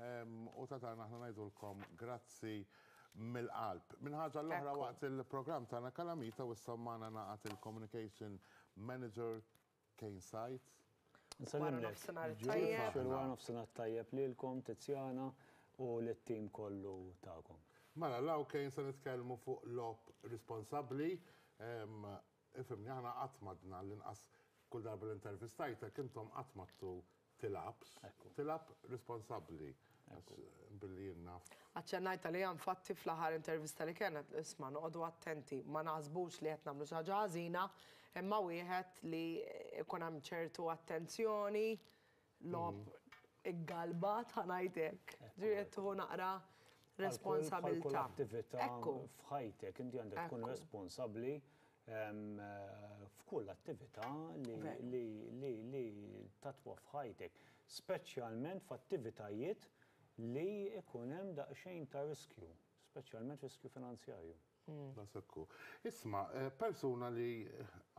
U ta' tagħna aħna ngħidulkom grazzi mill-qalb. Minn ħaġa l-oħra waqt il-programm tagħna Kalamita u issa magħna ngħaqad il-Communication Manager Kane Said. Wara nofsinhar it-tajjeb. Wara nofsinhar tajjeb lilkom Tiziana u lit-tim kollu tagħkom. Mela, law Kane se nitkellmu fuq logħob responsabbli. Ifhimni, aħna qatt m'għadna l-inqas kull darba li intervistajtek intom qatt m'għadtu tilgħabx, tilgħab responsabbli. Billi jien naf. Aċċennajt għaliha infatti fl-aħħar intervista li kellna, isma' noqogħdu attenti, ma naħsbux li qed nagħmlu xi ħaġa ħażina, imma wieħed li jkun hemm ċertu attenzjoni, logħob iggalbat ħa ngħid hekk. Ġifieri qed tieħu naqra responsabilità. Bħal kull attività f'ħajtek inti għandek tkun responsabbli f'kull attività li tatwa f'ħajtek, speċjalment f'attivitajiet li jkun hemm daqsxejn ta' riskju, speċjalment riskju finanzjarju. Daqshekk hu. Isma', persuna li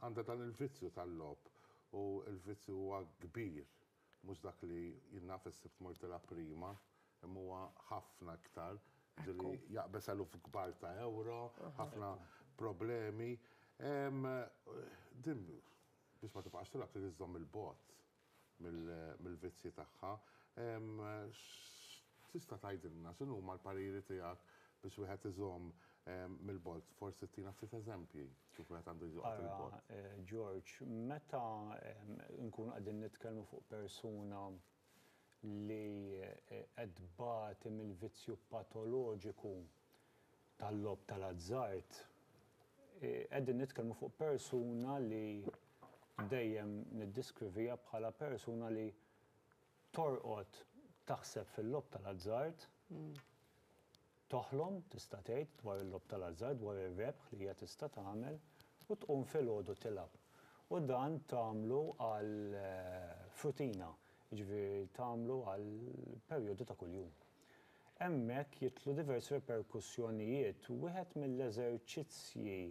għandha dan il-vizzju tal-logħob u l-vizzju huwa kbir, mhux dak li jien naf is-Sibt mort tilgħab prima, imma huwa ħafna iktar, ġieli jaqbeż eluf kbar ta' ewro, ħafna problemi. Din biex ma tibqax tilgħab trid iżżomm il-bogħod mill-vizzji tagħha. X'tista' tgħidilna, x'inhuma l-pariri tiegħek biex wieħed iżomm mill-bogħod? Forsi ttina ftit eżempji kif wieħed għandu joqgħod il-bogħod. Ara, George, meta nkunu qegħdin nitkellmu fuq persuna li qed tbati mill-vizzju patoloġiku tal-logħob tal-azzard, qegħdin nitkellmu fuq persuna li dejjem niddeskriviha bħala persuna li torqod taħseb fil-logħob tal-azzard, toħlom, tista' tgħid, dwar il-logħob tal-azzard, dwar ir-rebħ li hija tista' tagħmel, u tqum filgħodu tilgħab. U dan tagħmlu għal f'rutina, jiġifieri tagħmlu għal perjodu ta' kuljum. Hemmhekk jidħlu diversi riperkussjonijiet. Wieħed mill-eżerċizzji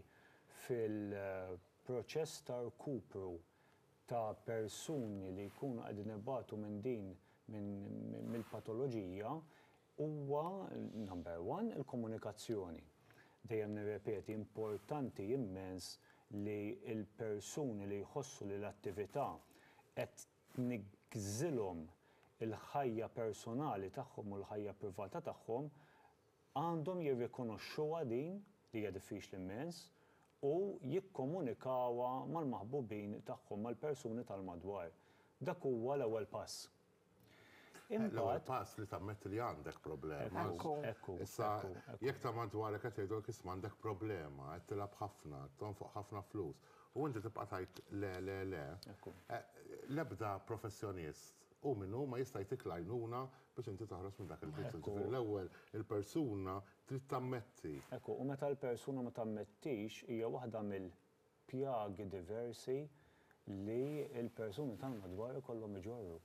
fil-proċess ta' rkupru ta' persuni li jkunu qegħdin ibatu minn din minn mill-patoloġija huwa, number one, il-komunikazzjoni. Dejjem nirrepeti, importanti immens li l-persuni li jħossu li l-attività qed tniggżilhom il-ħajja personali tagħhom u l-ħajja privata tagħhom, għandhom jirrikonoxxuha din, li hija diffiċli immens, u jikkomunikawha mal-maħbubin tagħhom, mal-persuni tal-madwar. Dak huwa l-ewwel pass. L-ewwel pass li tammetti li għandek problema. Ekku. Ekku. Issa, jekk ta' madwarek qed jgħidulek isma' għandek problema, qed tilgħab ħafna, tonfoq ħafna flus, u inti tibqa' tgħid le, le, le. Ekku. L-ebda professjonist, hu min hu, ma jista' jtik l-għajnuna biex inti toħroġ minn dak il-vizzju. Ġifieri l-ewwel il-persuna trid tammetti. Ekku, u meta l-persuna ma tammettix hija waħda mill pjagi diversi li l-persuni tal-madwar ikollhom iġorru.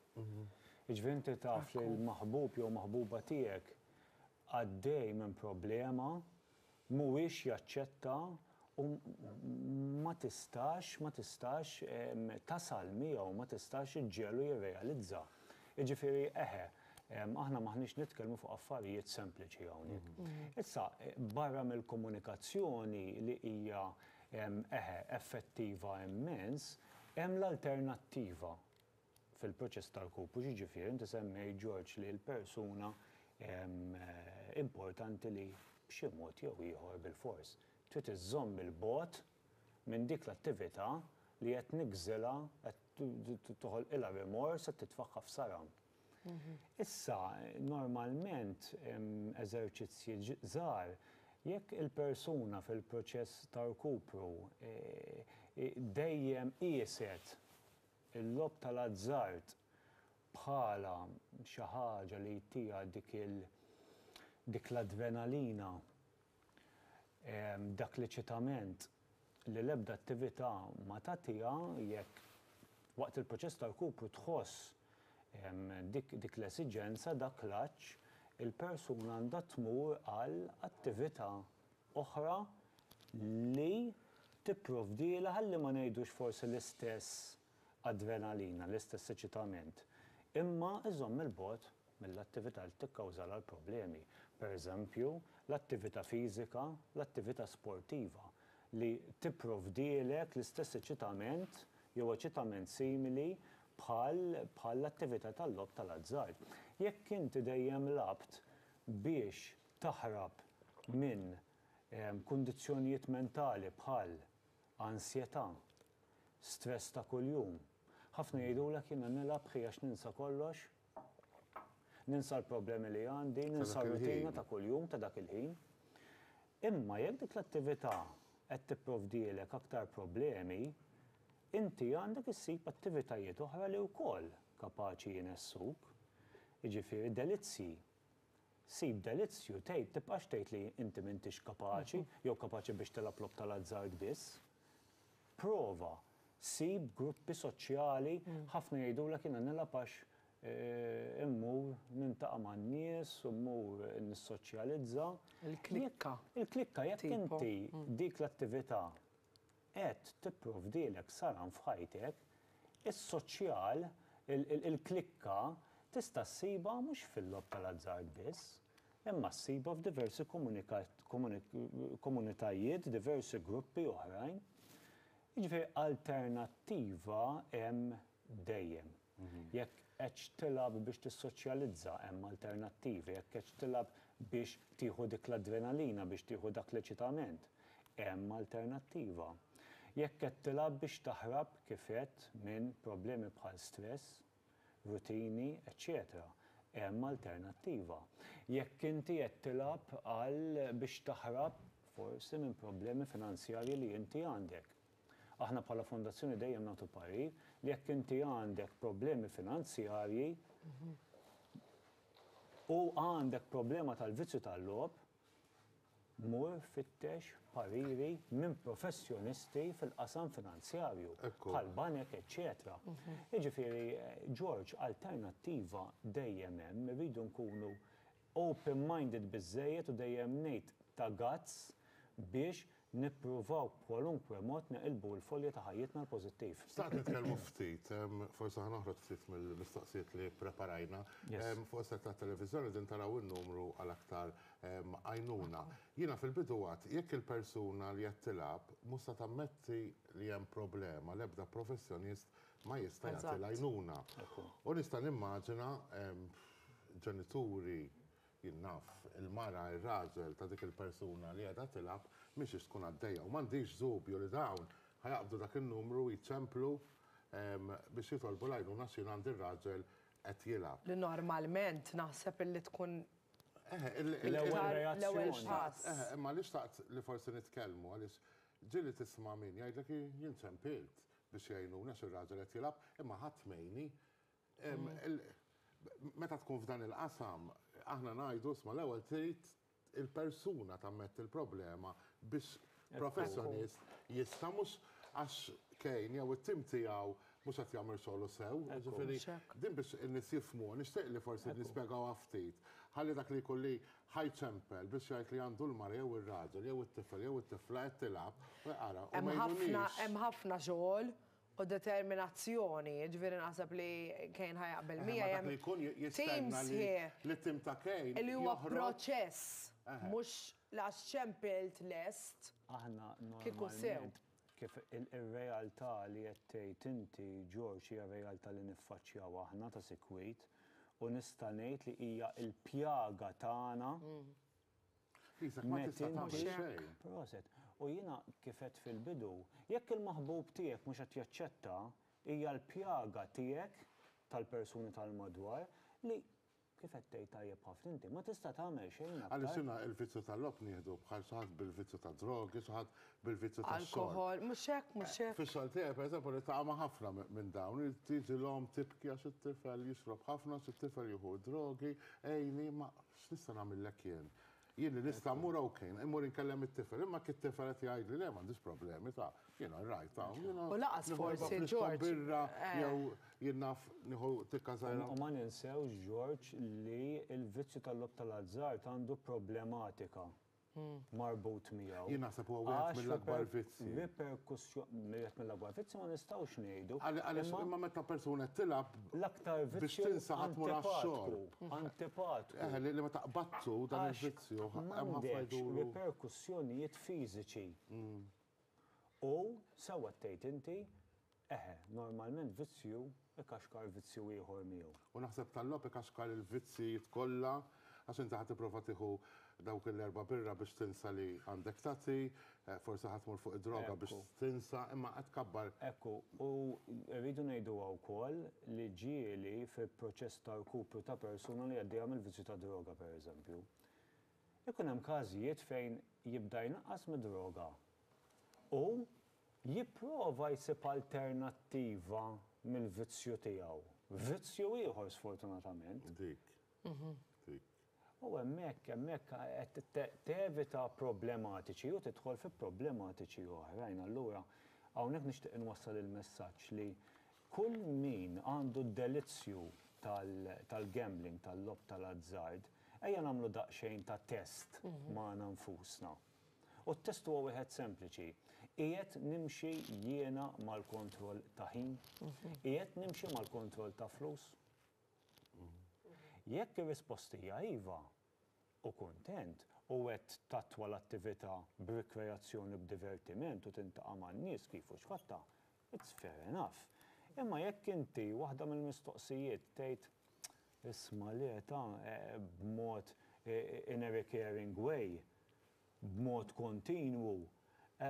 Jiġifieri inti taf li l-maħbub jew maħbuba tiegħek għaddej minn problema, mhuwiex jaċċetta u ma tistax, ma tistax tasal miegħu, ma tistax iġġegħlu jirrealizza. Jiġifieri eħe, aħna m'aħniex nitkellmu fuq affarijiet sempliċi hawnhekk. Issa, barra mill-komunikazzjoni li hija eħe, effettiva immens, hemm l-alternattiva fil-proċess ta' rkupru, x'jiġifieri inti semmejt George li l-persuna importanti li b'xi mod jew ieħor bilfors trid iżżomm 'il bogħod minn dik l-attività li qed tniggżilha, qed toħolqilha rimors, qed titfagħha f'saram. Issa, normalment, eżerċizzji żgħar, jekk il-persuna fil-proċess ta' rkupru dejjem qieset il-logħob tal-azzard bħala xi ħaġa li jtiha dik il dik l-adrenalina, dak l-eċitament li l-ebda attività ma tagħtiha, jekk waqt il-proċess ta' rkupru tħoss dik dik l-esiġenza, dak l-għatx, il-persuna għandha tmur għal attività oħra li tipprovdilha ħalli ma ngħidux forsi l-istess adrenalina, l-istess eċitament, imma iżomm 'il bogħod. mill-attività li tikkawżalha l-problemi. Pereżempju, l-attività fiżika, l-attività sportiva li tipprovdielek l-istess eċitament jew eċitament simili bħal bħall-attività tal-logħob tal-azzard. Jekk inti dejjem lgħabt biex taħrab minn kundizzjonijiet mentali bħal ansjetà, stress ta' kuljum. Ħafna jgħidulek jiena nilgħab ħi għax ninsa kollox, ninsa l-problemi li għandi, ninsa r-rutina ta' kuljum ta' dak il-ħin. Imma jekk dik l-attività qed tipprovdielek aktar problemi, inti għandek issib attivitajiet oħra li wkoll kapaċi jnessuk. Jiġifieri delizzji. Sib delizzju, tgħid, tibqax tgħid li inti m'intix kapaċi, jew kapaċi biex tilgħab logħob tal-azzard biss. Prova, sib gruppi soċjali, ħafna jgħidulek jiena nilgħab għax immur nintaqa' man-nies u mmur nissoċjalizza. Il-klikka. Il-klikka, jekk inti dik l-attività qed tipprovdilek saram f'ħajtek, is-soċjal, il-klikka, tista' ssibha mhux fil-logħob tal-azzard biss, imma ssibha f'diversi komunitajiet, diversi gruppi oħrajn. Jiġifieri alternattiva hemm dejjem. Jekk qedx tilgħab biex tissoċjalizza hemm alternattivi, jekk qedx tilgħab biex tieħu dik l-adrenalina, biex tieħu dak l-eċitament, hemm alternattiva. Jekk qed tilgħab biex taħrab, kif għedt, minn problemi bħal stress, rutini, eċċetera, hemm alternattiva. Jekk inti qed tilgħab għal biex taħrab forsi minn problemi finanzjarji li inti għandek, Aħna bħala fondazzjoni dejjem nagħtu parir li jekk inti għandek problemi finanzjarji u għandek problema tal-vizzju tal-logħob, mur fittex pariri minn professjonisti fil-qasam finanzjarju, bħal banek, eċċetera. Jiġifieri, George, alternattiva dejjem hemm, irridu nkunu open-minded biżżejjed u dejjem ngħid ta' guts biex nippruvaw b'kwalunkwe mod neqilbu l-folja ta' ħajjitna għall-pożittiv. Xtaqt nitkellmu ftit, forsi ħa noħroġ ftit mill-mistoqsijiet li ppreparajna. Fuq is-set tat-televiżjoni din taraw in-numru għal aktar għajnuna. Jiena fil-bidu għedt, jekk il-persuna li qed tilgħab mhux se tammetti li hemm problema, l-ebda professjonist ma jista' jagħti l-għajnuna. U nista' nimmaġina ġenituri, jien naf, il-mara, ir-raġel ta' dik il-persuna li qiegħda tilgħab mhix ix tkun għaddejja. U m'għandix dubju li dawn ħa jaqbdu dak in-numru u jċemplu biex jitolbu l-għajnuna għax jien għandi r-raġel qed jilgħab. Li normalment naħseb illi tkun l-ewwel reazzjoni. Pass. Eħe, imma li xtaqt li forsi nitkellmu għaliex ġieli tisma' min jgħidlek jien ċempilt biex jgħinuni għax ir-raġel qed jilgħab, imma ħadd m'għinni. Meta tkun f'dan il-qasam, aħna ngħidu isma' l-ewwel trid il-persuna tammetti l-problema biex professjonist jista' mhux għax Kane jew it-tim tiegħu mhux qed jagħmel xogħlu sew. Ġifieri din biex in-nies jifhmu, nixtieq li forsi nispjegawha ftit. Ħalli dak li jkun li ħa jċempel biex jgħid li għandu l-mara jew ir-raġel jew it-tifel jew it-tifla qed tilgħab, u jqara u ma jgħinunix. Hemm ħafna xogħol u determinazzjoni, jiġifieri naħseb li Kane ħa jaqbel miegħi hemm tim sħiħ. Li tim ta' Kane. Li huwa proċess, mhux għax ċempilt lest. Aħna normalment kif ir-realtà li qed tgħid inti George hija realtà li niffaċċjaw aħna ta' sikwit u nista' ngħid li hija l-pjaga tagħna Isek ma tista' tagħmel xejn. Proset. U jiena kif għedt fil-bidu, jekk il-maħbub tiegħek mhux qed jaċċetta, hija l-pjaga tiegħek tal-persuni tal-madwar li kif qed tgħid tajjeb ħafna inti, ma tista' tagħmel xejn aktar. Għaliex jiena l-vizzju tal-logħob nieħdu bħal xi ħadd bil-vizzju tad-drogi, xi ħadd bil-vizzju tax-xorb. Alkoħol, mhux hekk, mhux hekk. Fix-xogħol tiegħi pereżempju niltaqa' ma' ħafna minn dawn, tiġi l-omm tibki għax it-tifel jixrob ħafna, għax it-tifel jieħu d-drogi, għinni, ma x'nista' nagħmillek jien? Jien li nista' mmur ok, immur inkellem it-tifel, imma kif it-tifel qed jgħidli le m'għandix problemi ta' jiena rajt ta' jiena. U laqas forsi George. Birra jew jien naf nieħu tikka żgħira. U ma ninsewx George li l-vizzju tal-logħob tal-azzard għandu problematika. marbut miegħu. Jien naħseb huwa wieħed mill-akbar vizzji. Riperkussjoni, wieħed mill-akbar vizzji ma nistgħux ngħidu. Għaliex imma meta persuna qed tilgħab L-aktar biex vizzju tinsa ħa tmur għax-xorb. Antipatku. Eħe, li meta qbadtu dan il-vizzju hemm ħafna M'għandekx jduru. riperkussjonijiet fiżiċi. U sewwa tgħid inti, eħe, normalment vizzju ikaxkar vizzju ieħor miegħu. U naħseb tal-logħob ikaxkar il-vizzjijiet kollha, għax inti ħa tipprova tieħu dawk l-erba' birra biex tinsa li għandek tagħti, forsi ħa tmur fuq id-droga biex tinsa, imma qed tkabbar. Ekku, u rridu ngħiduha wkoll li ġieli fil-proċess ta' rkupru ta' persuna li għaddejja mill-vizzju tad-droga pereżempju, ikun hemm każijiet fejn jibda jnaqqas mid-droga u jipprova jsib alternattiva mill-vizzju tiegħu. Vizzju ieħor sfortunatament. Dik. Dik. U hemmhekk, hemmhekk qed tevita problematiċi u tidħol fi problematiċi oħrajn. Allura hawnhekk nixtieq inwassal il-messaġġ li kull min għandu d-delizzju tal-gambling, tal-logħob tal-azzard, ejja nagħmlu daqsxejn ta' test magħna nfusna. U t-test huwa wieħed sempliċi. Qiegħed nimxi jiena mal-kontroll ta' ħin? Qiegħed nimxi mal-kontroll ta' flus? Jekk ir-risposta hija iva, u kuntent, u qed tattwa l-attività b'rikreazzjoni u b'divertiment u tintaqa' man-nies kif u x'fatta, it's fair enough. Imma jekk inti waħda mill-mistoqsijiet tgħid isma' le ta' b'mod in a recurring way, b'mod kontinwu,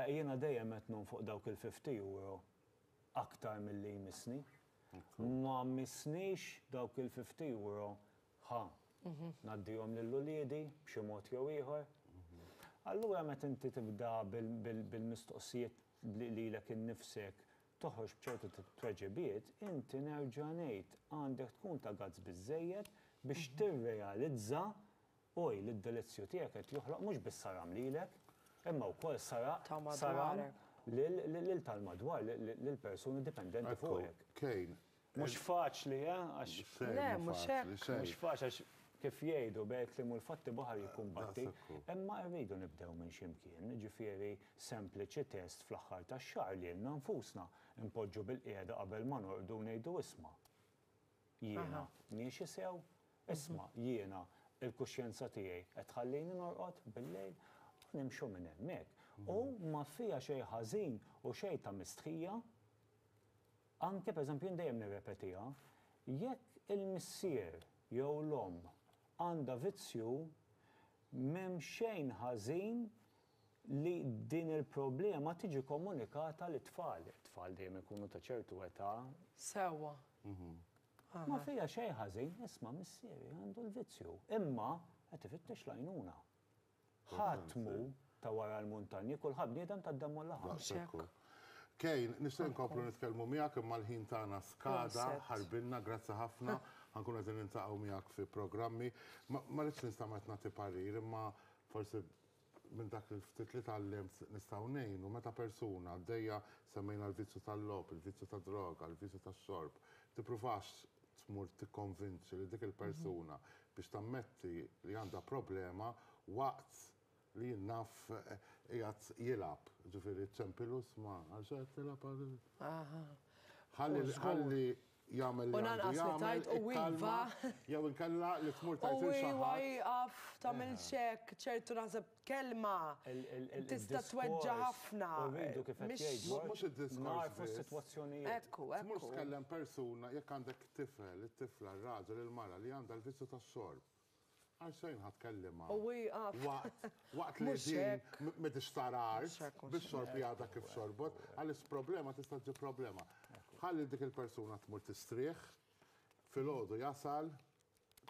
jiena dejjem qed nonfoq dawk il-50 euro aktar milli jmissni. Ma missnix dawk il-50 euro ħa ngħaddihom lil uliedi b'xi mod jew ieħor. Allura meta inti tibda bil-mistoqsijiet lilek innifsek toħroġ b'ċertu tweġibiet, inti nerġa' ngħid għandek tkun ta' gazz biżżejjed biex tirrealizza oj li d-delizzju tiegħek qed joħloq mhux biss saram lilek, imma wkoll Ta' saram madwarek. lil tal-madwar, lil persuni dipendenti Ekku, fuqek. Kane. Mhux faċli, eh, għax Xejn Le, mhu mhux faċli, hekk. xejn. Mhux faċli għax kif jgħidu bejn kliem u l-fatti baħar jikkumbatti, Daqshekk hu. imma rridu nibdew minn xi mkien, ġifieri sempliċi test fl-aħħar tax-xahar lilna nfusna npoġġu bil-qiegħda qabel ma norqdu u ngħidu isma' jiena miexi sew, isma' jiena il-kuxjenza tiegħi qed tħallini norqod bil-lejl, u nimxu minn hemmhekk. U ma fiha xejn ħażin u xejn ta' mistħija, anke pereżempju jien dejjem nirrepetiha, jekk il-missier jew l-omm għandha vizzju, m'hemm xejn ħażin li din il-problema tiġi komunikata lit-tfal. It-tfal dejjem ikunu ta' ċertu età. Sewwa. Ma fiha xejn ħażin, isma' missieri għandu l-vizzju, imma qed ifittex l-għajnuna. Ħadd mhu ta' wara l-muntanji, kulħadd bniedem tad-demm u l-laħam. Daqshekk hu. Kane, nixtieq nkomplu nitkellmu miegħek imma l-ħin tagħna skada, ħarbilna, grazzi ħafna. Ħa nkunu qegħdin niltaqgħu miegħek fi programmi. Ma rridx nistama' qed nagħti parir, imma forsi minn dak il-ftit li tgħallimt nistgħu ngħinu meta persuna għaddejja semmejna l-vizzju tal-logħob, il-vizzju tad-droga, il-vizzju tax-xorb, tippruvax tmur tikkonvinċi li dik il-persuna biex tammetti li għandha problema waqt li jien naf qiegħed jilgħab. Ġifieri ċempilu isma' għal xi qed tilgħab għal. Ħalli ħalli jagħmel li U għandu lanqas li jagħmel, tajt u ikkalma, iva. jew inkella li tmur U tajt lil xi iwa ħadd. jieqaf tagħmilx hekk, ċertu naħseb kelma tista' tweġġa' ħafna. U rridu kif qed Mhix- jgħid George, Mhux id-diskors narfu biss. s-sitwazzjonijiet. Ekku, Tmur ekku. tkellem persuna jekk għandek tifel, it-tifla, ir-raġel, il-mara li għandha l-vizzju tax-xorb. Għal xejn ħa tkellimha. U wieqaf. Waqt, waqt li Mhux din hekk. m'idix tara art, Mhux hekk, mhux bix-xorb li għadha kif xorbot, għaliex problema tista' ġib problema. Ħalli dik il-persuna tmur tistrieħ, filgħodu jasal,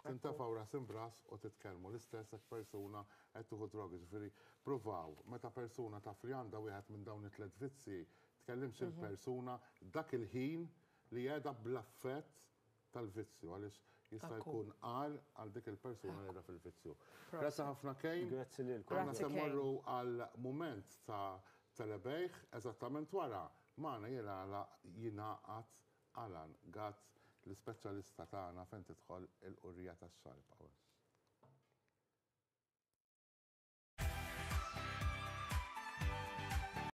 tintefgħu ras imbras u titkellmu. L-istess jekk persuna qed tieħu drogi, ġifieri pruvaw meta persuna taf li għandha wieħed minn dawn it-tliet vizzi, tkellimx il-persuna dak il-ħin li qiegħda bl-affett tal-vizzju, għaliex jista' jkun għar għal dik il-persuna li qiegħda fil-vizzju. Grazzi ħafna Kane. Grazzi lilkom. Aħna Grazzi, se Kane. mmorru għal mument ta' telebejħ eżattament wara magħna jingħaqad Alan Gatt, l-ispeċjalista tagħna fejn tidħol il-qurrija tax-xarb.